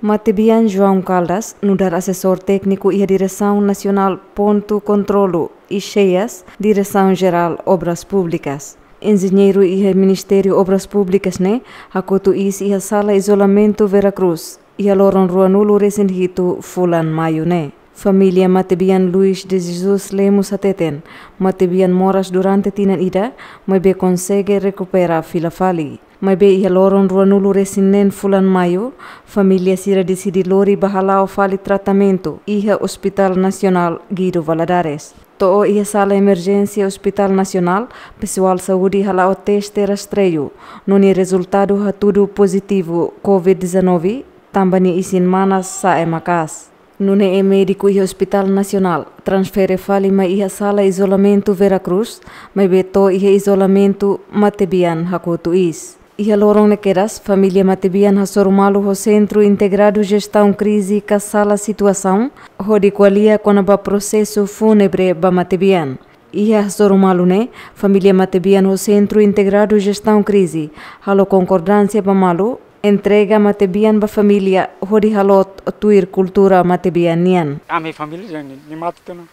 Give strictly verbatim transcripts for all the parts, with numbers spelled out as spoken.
Matebian João Caldas nu'udar asesór tékniku iha Diresaun Nasionál Pontu Kontrolu i Xeias, Diresaun Jerál Obras Públikas. Enjeñeiru iha Ministériu Obras Públikas ne'e hakotu iis iha sala izolamentu Vera Cruz iha loron ruanulu resin hitu fulan Maiu ne'e. Família matebian Luis de Jesus Lemos hateten, matebian moras durante tinan ida, maibé konsege rekupera fila fali. Maibé iha loron ruanulu resin neen fulan Maiu, família sira deside lori ba hala'o fali tratamentu iha Hospital Nasionál Guido Valadares. To'o iha sala emerjénsia Hospital Nasionál, pesoál saúde hala'o teste rastreiu, no nia rezultadu hatudu pozitivu covid dezanove, tanba nia isin-manas sa'e maka'as. Nune'e médiku iha Hospital Nasionál transfere fali mai iha sala izolamentu Vera Cruz, maibé to'o iha izolamentu matebian hakotu iis. Iha loron ne'e kedas, família matebian hasoru malu ho Sentru Integradu Jestaun Krize ka Sala Situasaun, hodi ko'alia kona-ba prosesu fúnebre ba matebian. Iha hasoru malu ne'e, família matebian ho Sentru Integradu Jestaun Krize halo konkordánsia ba malu, entrega matebian ba família hodi haloot tuir kultura matebian nian. Ami família ida-ne'e, nia mate tiha ona.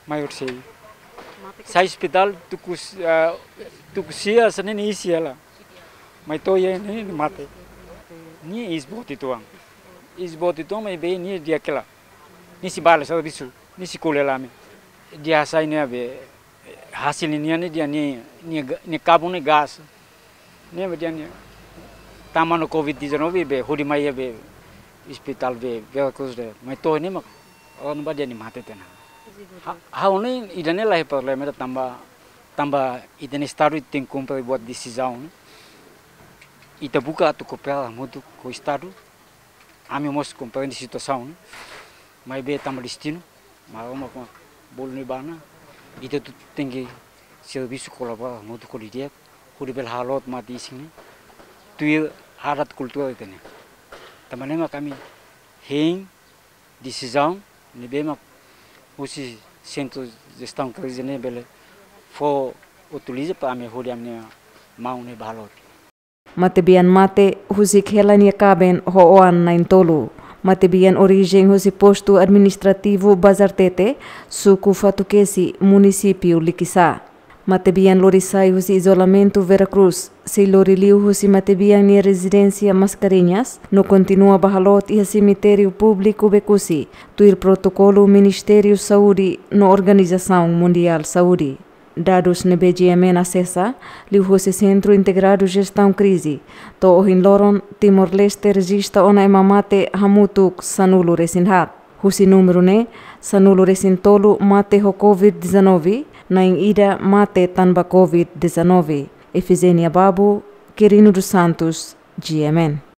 Mai horisehik. Sai ospitál tuku s-, ah, tuku sia hanesan ne'e iis hela. Mai to'o iha ne'e nia mate. Nia iis boot uitoan. Iis boot uitoan maibé nia di'ak hela. Nia sei bá halo servisu, nia sei ko'alia hela ami. Nia hasai ne'ebé hasil nian ne'e nia, nia, nia ga-, nia kabun ne'e gás. Ne'ebé nia, nia tama ona covid dezanove be hodi mai iha be ospitál be Vera Cruz ne'e. Mai to'o ne'e mak, oh, ne'ebá nia mate tiha ona. Ha, ha'u hanoin ida-ne'e la iha problema ida tanba, tanba ita-nia Estadu tenke kumpre buat desizaun ne'e. Ita buka atu koopera hamutuk ho Estadu. Ami mós komprende situasaun ne'e. Maibé tanba destinu, Maromak mak bolu ne'e ba ona, ita hotu tenke servisu kolabora hamutuk ho di'ak, hodi bele haloot mate isin ne'e tuir adat kultura ita-nian. Tanba ne'e mak ami hein desizaun ne'ebé mak husi Sentru Jestaun Krize ne'e bele fó autoriza para ami hodi ami-nia maun ne'e bá haloot. Matebian mate husik hela nia kaben ho oan na'in-tolu. Matebian orijen husi Postu Administrativu Bazartete, Suku Fatukesi, Munisípiu Likisá. Matebian lori sai husi izolamentu Vera Cruz, sei lori liu husi matebian nia rezidénsia Mascarenhas, no kontinua bá haloot iha semitériu públiku Becusi, tuir protokolu Ministériu Saúde no Organizasaun Mundiál Saúde. Dadus ne'ebé GMN asesa, liuhusi Sentru Integradu Jestaun Krize, to'o ohin loron Timor-Leste rejista ona ema mate hamutuk sanulu resin haat. Husi númeru ne'e, sanulu resin tolu mate ho covid dezanove, na'in ida mate tanba covid dezanove. Efigénia Babu, Quirino dos Santos, GMN.